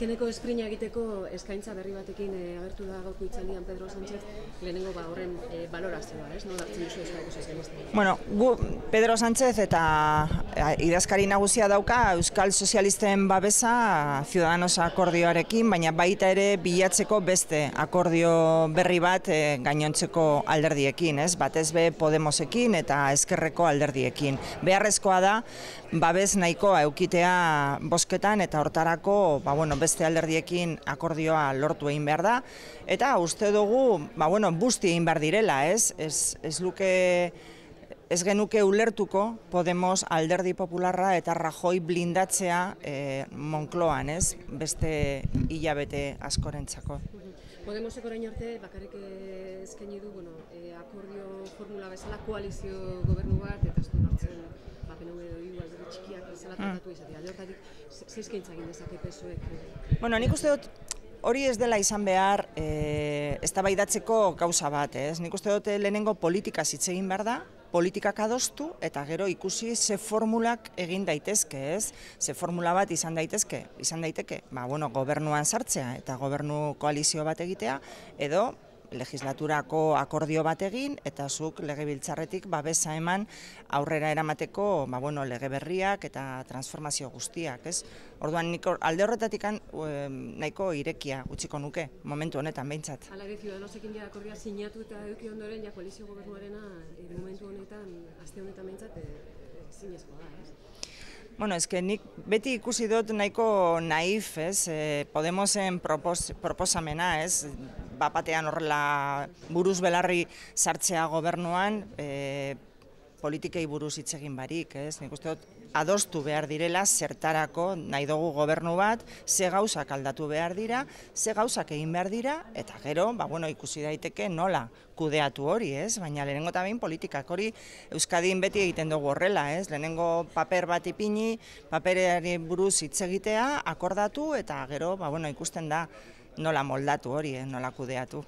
Azkeneko esprina egiteko eskaintza berri batekin agertu da gaurko hitzaldian Pedro Sánchez, lehenengo horren balorazioa, ez? Nola hartzen duzu Euskadiko Sozialistak? Bueno, Pedro Sánchez eta idazkari nagusia dauka Euskal Sozialisten babesa Ciudadanos akordioarekin, baina baita ere bilatzeko beste akordio berri bat gainontzeko alderdiekin, ez? Batez be Podemosekin eta Ezkerreko alderdiekin. Beharrezkoa da babes nahikoa eukitea bozketan eta hortarako, beste alderdiekin akordioa lortu egin behar da, eta uste dugu, busti egin behar direla, ez genuke ulertuko Podemos alderdi popularra eta Rajoy blindatzea Moncloan, ez, beste hilabete askorentzako. Podemosek orain arte bakarrik eskaini du, akordio formula bezala koalizio gobernu bat, eta ez du nortzen PNV edo hiru alderdi txikiak bezala tratatu izatea. Alde hortatik, ze eskaintza egin dezake PSOEk? Nik uste dut hori ez dela izan behar eztabaidatzeko gauza bat, ez? Nik uste dut lehenengo politikaz hitz egin behar da, politikak adostu eta gero ikusi ze formulak egin daitezke, ez? Ze formula bat izan daiteke, gobernuan sartzea eta gobernu koalizio bat egitea, edo legislaturako akordio bat egin eta zuk legebiltzarretik babesa eman aurrera eramateko lege berriak eta transformazio guztiak, ez? Orduan nik alde horretatik nahiko irekia utziko nuke, momentu honetan behintzat. Hala ere, Ciudadanosekin akordioa sinatu eta eduki ondoren koalizio gobernuarena momentu honetan, aste honetan behintzat, zinezkoa da, ez? Nik beti ikusi dut nahiko naif, ez, Podemosen proposamena, ez, bapatean horrela buruz belarri sartzea gobernuan, politikei buruz hitz egin barik, ez, nik uste dut adostu behar direla zertarako nahi dugu gobernu bat, ze gauzak aldatu behar dira, ze gauzak egin behar dira, eta gero, ikusi daiteke nola kudeatu hori, ez? Baina lehenengo eta behin politikak hori Euskadin beti egiten dugu horrela, ez? Lehenengo paper bat ipini, paperari buruz hitz egitea, akordatu, eta gero, ikusten da nola moldatu hori, nola kudeatu.